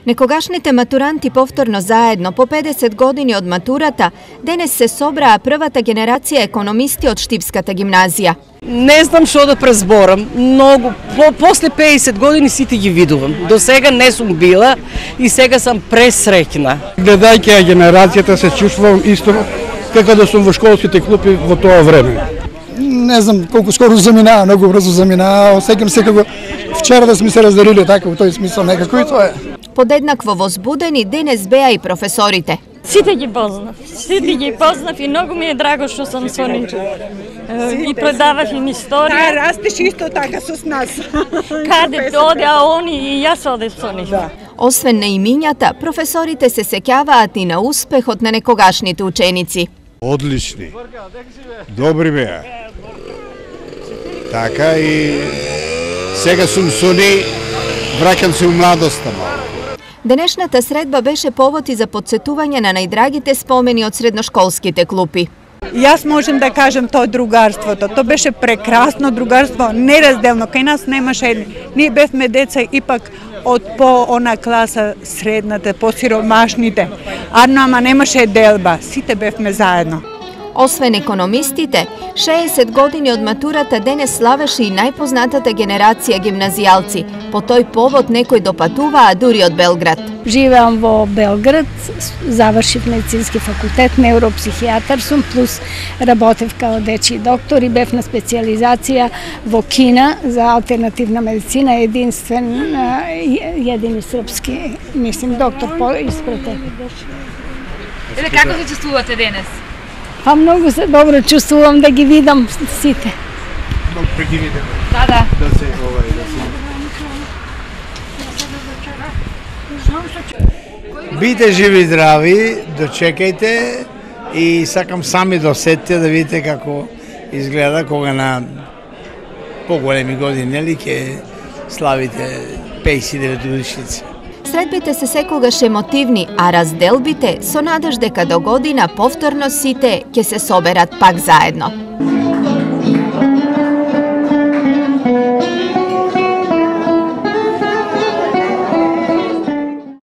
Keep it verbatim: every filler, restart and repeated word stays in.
Некогашните матуранти повторно заедно по педесет години од матурата денес се собраа првата генерација економисти од Штипската гимназија. Не знам што да презборам, многу, по, после педесет години сите ги видувам. До сега не сум била и сега сам пресреќна. Гледајќи ја генерацијата се чувствувам исто како да сум во школските клупи во тоа време. Не знам колку скоро заминаа, многу брзо заминаа, осеќам се како вчера да сме се разделили така во тој смисол некако и тоа е. Подеднакво возбудени денес беа и професорите. Сите ги познав, сите ги познав и многу ми е драго што сум со нив. И предавав им историја. Да, растеш исто така со нас. Каде оде, а они и јас одев со нив. Да. Освен на имињата, професорите се сеќаваат и на успехот на некогашните ученици. Одлични, добри беа. Така и сега сум со нив, враќам се у младоста малку. Денешната средба беше повод и за подсетување на најдрагите спомени од средношколските клупи. Јас можем да кажем тоа другарството. Тоа беше прекрасно другарство, неразделно. Кај нас немаше, ние бевме деца ипак од по она класа средната, по сиромашните. Арно, ама немаше делба, сите бевме заедно. Освен економистите, шеесет години од матурата денес славеше и најпознатата генерација гимназијалци. По тој повод некои допатуваа дури од Белград. Живеам во Белград, завршив медицински факултет, невропсихијатар сум, плюс работев као дечи доктор и бев на специјализација во Кина за алтернативна медицина, единствен, едини српски, мислим, доктор по испрате. Еле, како се чувствувате денес? Па многу се добро чувствувам да ги видам сите. Многу прегивите. Да, да. Да се овај, да се. Бидете живи и здрави, дочекајте и сакам сами да осетите да видите како изгледа кога на поголеми години, нели, ќе славите пеесет и девет годишници. Средбите се секогаш емотивни, а разделбите со надеж дека до година повторно сите ќе се соберат пак заедно.